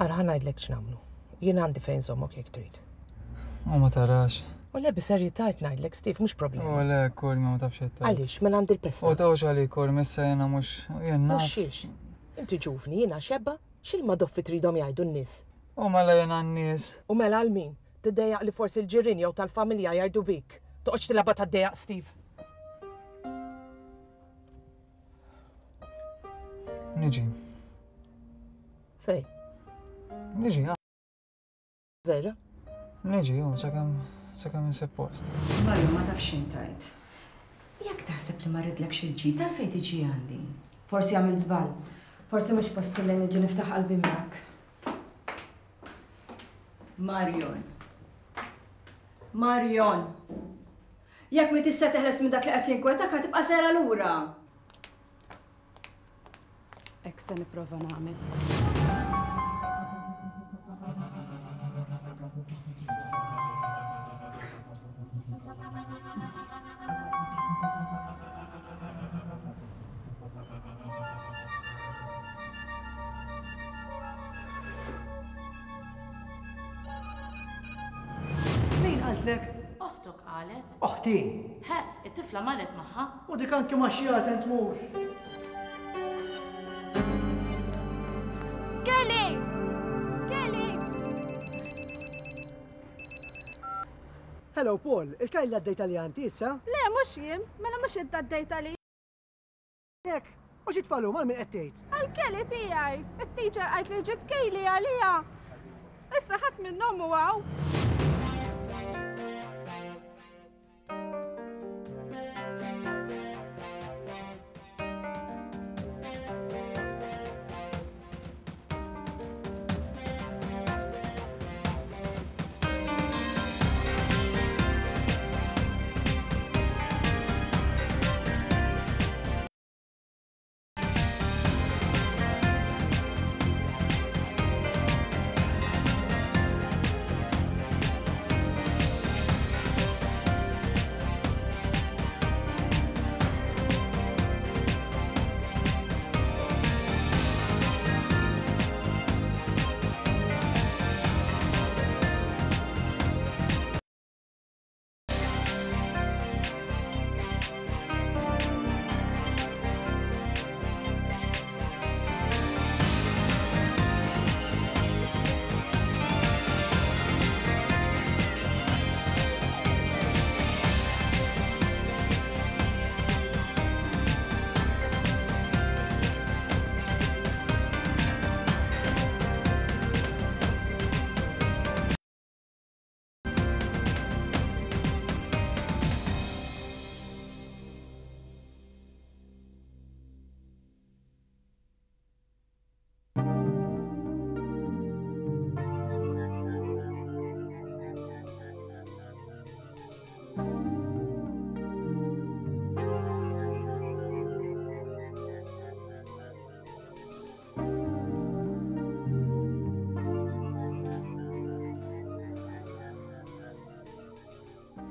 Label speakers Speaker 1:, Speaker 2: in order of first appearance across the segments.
Speaker 1: Ara ħa ngħidlek x'nagħmlu. Jien għandi fejn żommok jekk trid.
Speaker 2: U ma tarax.
Speaker 1: U le bis-serjetà qed ngħidlek, Steve, mhux problema.
Speaker 2: U le, Kormi, ma tafx qed tgħid.
Speaker 1: Għaliex, mela għandi l-pesta.
Speaker 2: U tawx għalik, Kormi, issa jiena mhux jien naf.
Speaker 1: Mhux xiex. Inti ġuvni, jiena xebba, x'il-madoffi tridhom jgħidu n-nies?
Speaker 2: U mela jiena n-nies.
Speaker 1: U mela għal min? Tiddejjaq li forsi l-ġirien jew tal-familja jgħidu bik. Toqgħodx tilgħabha tad-dejjaq, Steve.
Speaker 2: Niġi.
Speaker 1: Fej?
Speaker 2: Niġi,
Speaker 1: Vera?
Speaker 2: Niġi, u sakemm sakemm insib post.
Speaker 3: Mario ma tafx x'intajt. Jekk taħseb li ma rridlekx il-ġid għalfejn tiġi għandi?
Speaker 4: Forsi għamilt żball. Forsi mhux posti li niġi niftaħ qalbi miegħek.
Speaker 3: Marion. Marion. Jekk mi tista' teħles minn dak li qed jinkwetak ħa tibqa' sejra lura.
Speaker 4: Hekk se nipprova nagħmel.
Speaker 5: Min qaltlek?
Speaker 6: Oħtok qalet.
Speaker 5: Oħti?
Speaker 6: Ħe, it-tifla marret magħha.
Speaker 5: U dik anki ma' xjaten tmur.
Speaker 7: Kelly! Kelly!
Speaker 5: Hello Paul, il-Kajla għaddejt għalija inti issa?
Speaker 7: Le, mhux jien, mela mhux int għaddejt għalija.
Speaker 5: Hekk, u xi tfal huma għal min qed tgħid?
Speaker 7: Għal Kelly tiegħi. It-teacher qalt li ġiet Kaylee għaliha. Issa ħadd minnhom hu hawn.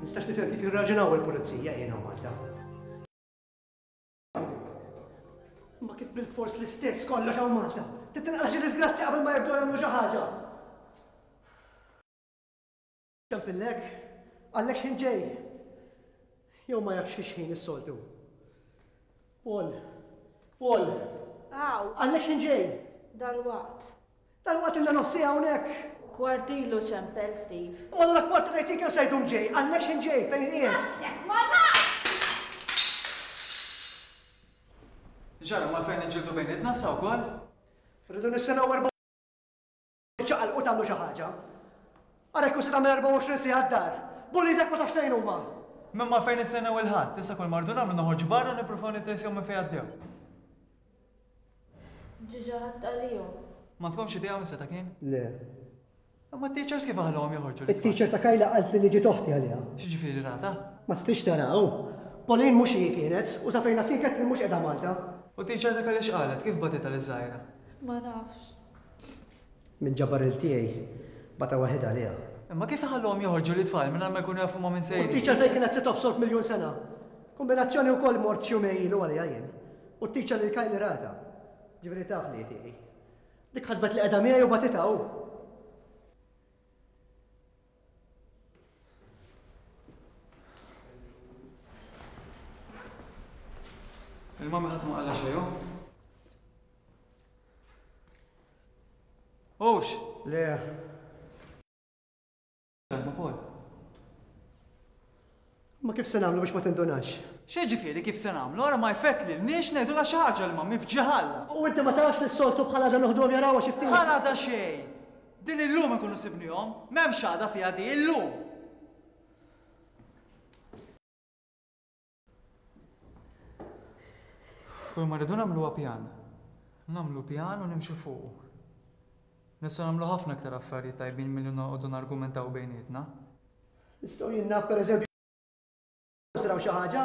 Speaker 5: Nistax nifhem kif jirraġunaw il-pulizija jien hawn Malta. Ma kif bil-fors l-istess kollox hawn Malta. Titinqala xi disgrazzja qabel ma jibdew jagħmlu xi ħaġa. Ċempillek? Qallek x'ħin ġej? Jew ma jafx fi x'ħin is-soltu? Paul! Paul!
Speaker 7: Hawn!
Speaker 5: Qallek x'ħin ġej?
Speaker 7: Dalwaqt.
Speaker 5: Dalwaqt ilna nofs siegħa hawnhekk!
Speaker 7: Kwart ilu ċempel Steve.
Speaker 5: U allura kwart ngħid jien kemm se jdum ġej? Qallek x'ħin ġej? Fejn qiegħed?
Speaker 7: Għedtlek ma nafx!
Speaker 2: Ġara, ma għalfejn niġġieldu bejnietna issa wkoll?
Speaker 5: Rridu nistennew Iċċaqalqu tagħmlu xi ħaġa. Ara jekk hu se tagħmel 24 siegħa d-dar. B'uliedek ma tafx fejn huma.
Speaker 2: M'hemm għalfejn nistennew il-Ħadd, issa kull ma rridu nagħmlu noħorġu barra u nippruvaw nittrejsjaw minn fejn għaddew.
Speaker 7: Ġiġa ħadt għalihom.
Speaker 2: M'għandkomx idea min seta' kien?
Speaker 5: Le.
Speaker 2: Imma t-teachers kif iħalluhom joħorġu lit-tfal?
Speaker 5: It-teacher ta' Kayla qaltli li ġiet oħti għaliha.
Speaker 2: X'jiġifieri ratha?
Speaker 5: Ma setgħetx tara hu. Pauline mhux hi kienet, u sa fejn naf jien Catherine mhux qiegħda Malta.
Speaker 2: U t-teacher ta' Kayla x'qalet? Kif bagħtitha liż-żgħira?
Speaker 7: Ma nafx.
Speaker 5: Min ġabar il tiegħi bata waħidha għaliha.
Speaker 2: Imma kif iħalluhom joħorġu lit-tfal mingħajr ma jkunu jafu ma' min sejrin?
Speaker 5: U t-teacher fejn kienet se tobsor f'miljun sena? Kumbinazzjoni wkoll mort xi jumejn ilu għaliha jien. U t-teacher lil Kylie ratha. Ġifieri taf li hi tiegħi. Dik ħasbet li qiegħda miegħi u bagħtitha hu.
Speaker 2: Il-mami ħadd ma qalla xejn, hu? Hux!
Speaker 5: Le.
Speaker 2: Ma Paul.
Speaker 5: Ma kif se nagħmlu biex ma tindunax?
Speaker 2: X'jiġifieri kif se nagħmlu? Ara ma jfettlilniex ngħidulha xi ħaġa l-mami f'ġiħalla.
Speaker 5: U inti ma tafx li s-soltu bħal għada noħduhom jarawha xi ftit?
Speaker 2: Bħal għada xejn! Din illum inkunu sibnihom. M'hemmx għada fiha di, illum! Kull ma rridu nagħmlu huwa pjan. Nagħmlu pjan u nimxu fuqu. Nistgħu nagħmlu ħafna aktar affarijiet tajbin milli noqogħdu nargumentaw bejnietna.
Speaker 5: Nistgħu jien naf pereżempju naraw xi ħaġa?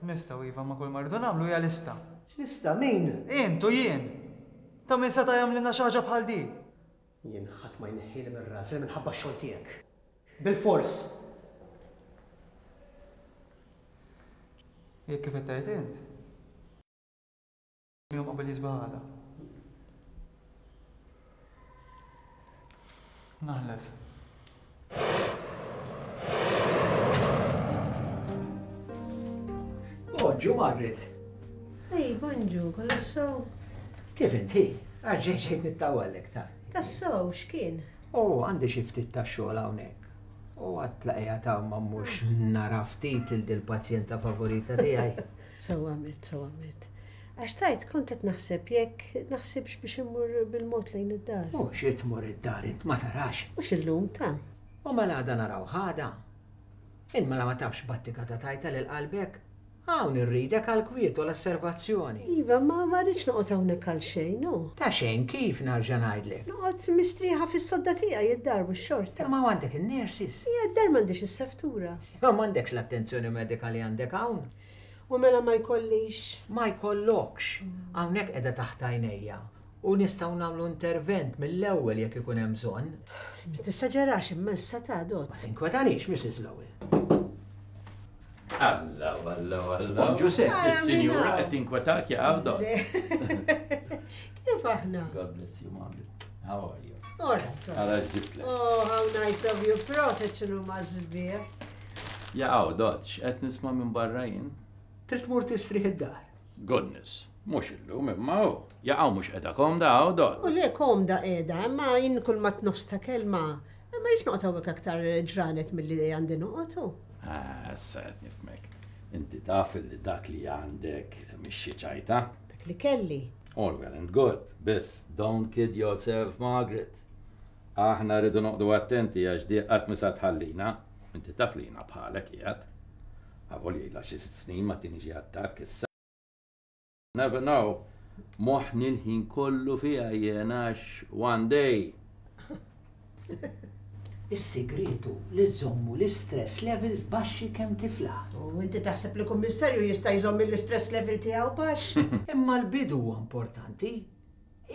Speaker 2: Nistgħu iva, imma kull ma rridu nagħmlu hija lista.
Speaker 5: X'lista? Min?
Speaker 2: Int u jien! Ta' min seta' jagħmlilna xi ħaġa bħal di?
Speaker 5: Jien ħadd ma jneħħieli minn rasi minħabba x-xogħol tiegħek. Bilfors!
Speaker 2: Jekk kif qed tgħid int. Jum qabel jisbaħ għada. Naħlef.
Speaker 8: Bonġu, Margaret.
Speaker 9: Ej, bonġu, kollox sew.
Speaker 8: Kif inti? Għax ġejt ġejt nittawallek ta'.
Speaker 9: Tassew, x'kien?
Speaker 8: Oh, għandi xi ftit ta' xogħol hawnhekk. U għadt la qiegħed hawn ma mmurx nara ftit lil dil-pazjenta favorita tiegħi.
Speaker 9: Sew għamilt, sew għamilt. Għax tgħid kont qed naħseb jekk naħsibx biex immur bil-mod lejn id-dar.
Speaker 8: U xi tmur id-dar int ma tarax?
Speaker 9: Mhux illum ta'.
Speaker 8: U mela għada narawh għada. Int mela ma tafx battika ta' tajta lil qalbek? Hawn irridek għall-kwiet u l-osservazzjoni.
Speaker 9: Iva, ma ma rridx noqgħod hawnhekk għal xejn, hu.
Speaker 8: Ta' xejn kif, narġa' ngħidlek.
Speaker 9: Noqgħod mistrieħa fis-sodda tiegħi id-dar mhux xorta.
Speaker 8: Imma hawn għandek in-nurses.
Speaker 9: Ija, d-dar m'għandix is-seftura.
Speaker 8: Imma m'għandekx l-attenzjoni medika li għandek hawn.
Speaker 9: U mela ma jkollix?
Speaker 8: Ma jkollokx. Hawnhekk qiegħda taħt għajnejja u nistgħu nagħmlu intervent mill-ewwel jekk ikun hemm bżonn.
Speaker 9: Ma tesaġerax imma issa ta' Dott.
Speaker 8: Ma tinkwetanix, Mrs. Lowell.
Speaker 10: Alla, alla, alla.
Speaker 8: Ġusepp.
Speaker 10: Is-sinjura qed tinkwetak ja Dott.
Speaker 9: Kif aħna?
Speaker 10: God bless you, Margaret. How are you?
Speaker 9: All right.
Speaker 10: Ara ġibtlek.
Speaker 9: Oh, how nice of you. Proset x'inhu ma sbieħ.
Speaker 10: Jaqaw, Dott, x'qed nisma' minn barra jien?
Speaker 8: Trid tmur tistrieħ id-dar.
Speaker 10: Goodness, mhux illum imma hu. Jaqaw mhux qiegħda komda hawn, Dott?
Speaker 9: U le komda qiegħda, imma jien kull ma tnofs ta' kelma, ma rridx noqgħod hawnhekk aktar ġranet milli għandi noqgħod hu.
Speaker 10: Ah, issa qed nifhmek. Inti taf li dak li għandek mhix xi ċajta.
Speaker 9: Dak li kelli.
Speaker 10: All well and good, biss don't kid yourself, Margaret. Aħna rridu noqogħdu attenti għax di qatt mhi sa tħallina. Inti taf li jiena bħalek qiegħed. Avolja ilha xi sitt snin ma tini xi attakk issa. Never know. Moħħni l-ħin kollu fiha jien għax one day.
Speaker 8: Is-sigriet hu li żżommu l-istress levels baxxi kemm tiflaħ.
Speaker 9: U inti taħseb li kummissarju jista' jżomm l-istress level tiegħu baxx?
Speaker 8: Imma l-bidu huwa importanti.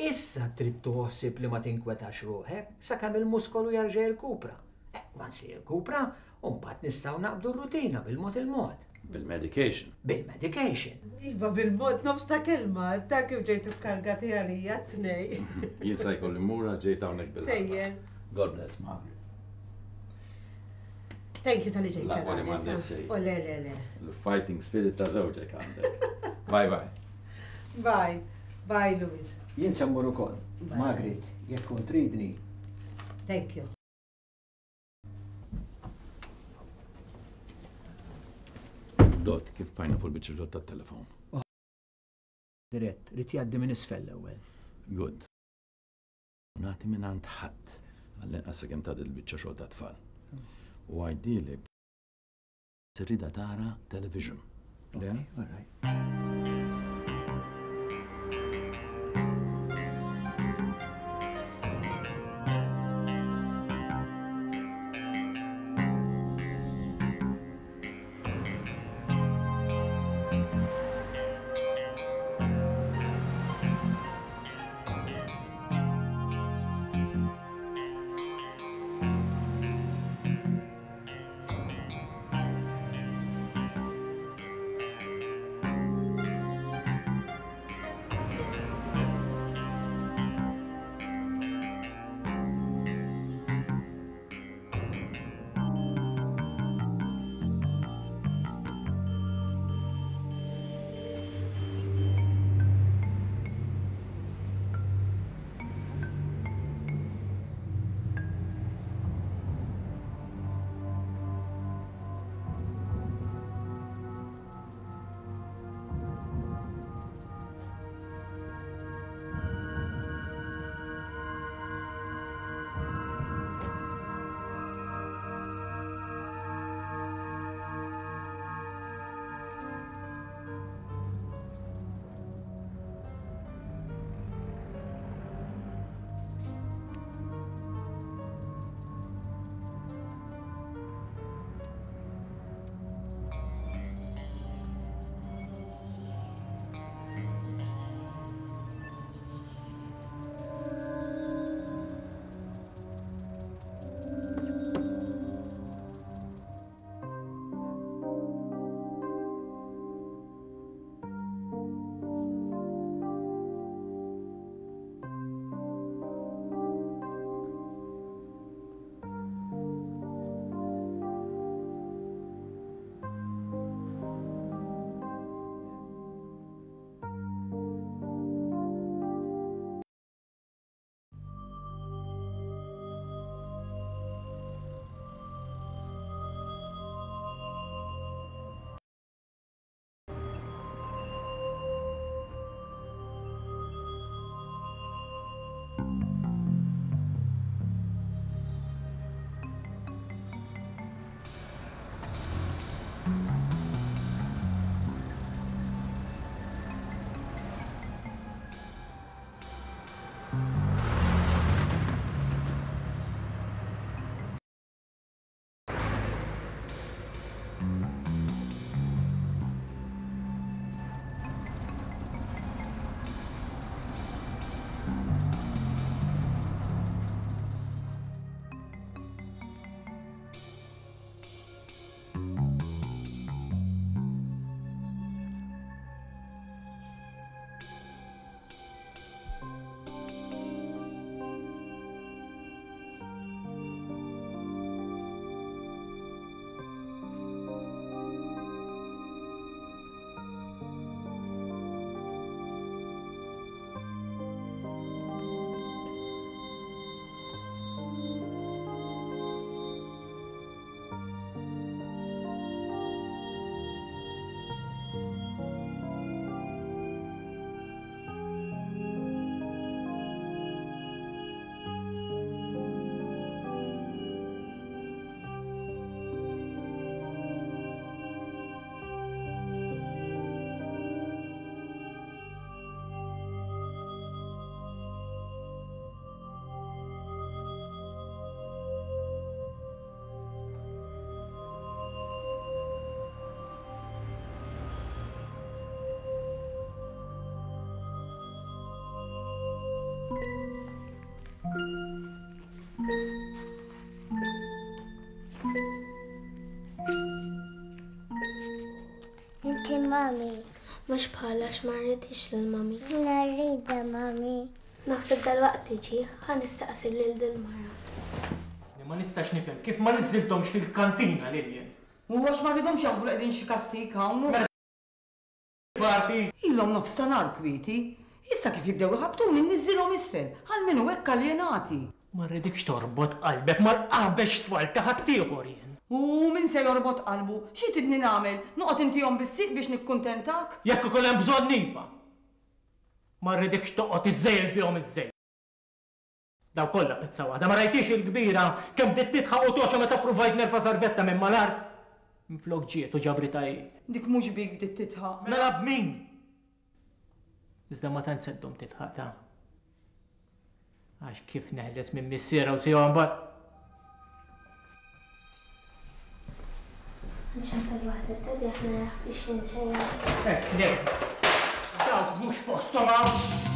Speaker 8: Issa trid tieħu ħsieb li ma tinkwetax ruħek sakemm il-muskolu jerġa' jirkupra. Eh, once li jirkupra, u mbagħad nistgħu naqbdu r-rutina bil-mod il-mod.
Speaker 10: Bil-medication.
Speaker 8: Bil-medication.
Speaker 9: Iva, bil-mod, nofs ta' kelma, ta' kif ġejtu kkargati għalija t-tnej.
Speaker 10: Jien sa jkolli mmur għax ġejt hawnhekk bil
Speaker 9: Sejjer.
Speaker 10: God bless, Margaret.
Speaker 9: Thank you tal-li ġejt.
Speaker 10: L-aqwa li m'għandek xejn.
Speaker 9: O le, le, le.
Speaker 10: L-fighting spirit ta' żewġek għandek. Bye bye.
Speaker 9: Bye. Bye, Louis.
Speaker 8: Jien se mmur ukoll. Margaret, jekk tkun tridni.
Speaker 9: Thank you.
Speaker 10: Dot, kif bqajna fuq il-biċċa xogħol tat-telefon?
Speaker 8: Dirett, rid jgħaddi minn isfel l-ewwel.
Speaker 10: Good. Nagħti mingħand ħadd, għall-inqas sakemm tgħaddi l-biċċa xogħol tat-tfal. U għidili Tridha tara television. Le?
Speaker 8: All right.
Speaker 11: Rrid il-mami. Mhux bħala għax ma rridhiex lill-mami. Jiena rridha mami. Naħseb dalwaqt tiġi, ħa nistaqsi lil dil-mara.
Speaker 2: Ma nistax nifhem kif ma niżżilthomx fil-kantina lil jien.
Speaker 12: U għax ma rridhomx jaħsbu li qegħdin xi kastig hawn u.
Speaker 2: Mela parti.
Speaker 12: Ilhom nofs ta' nhar kwieti. Issa kif jibdew iħabbtuni nniżżilhom isfel, almenu hekk aljenati.
Speaker 2: Ma rridikx torbot qalbek mal-qaħbex tfal ta' ħaddieħor jien.
Speaker 12: U min se jorbot qalbu? Xi tridni nagħmel? Noqgħod intihom bis-sieq biex nikkuntentak?
Speaker 2: Jekk ikun hemm bżonn iva. Ma rridikx toqgħod iżżejjel bihom iżżejjed. Dawn kollha pezza waħda. Ma rajthiex il-kbira kemm bdiet tidħaq u togħxa meta ppruvajt nerfa' sarvetta minn mal-art? Minflok ġiet u ġabritha hi.
Speaker 12: Dik mhux bik bdiet tidħaq.
Speaker 2: Mela b'min? Iżda ma tantx se ddum tidħaq ta. Għax kif neħles minn missierha u tiegħu mbagħad.
Speaker 11: Nċempel waħda d-daddy aħna naf biex ninċeja.
Speaker 2: Hekk le. Dawk mhux posthom hawn.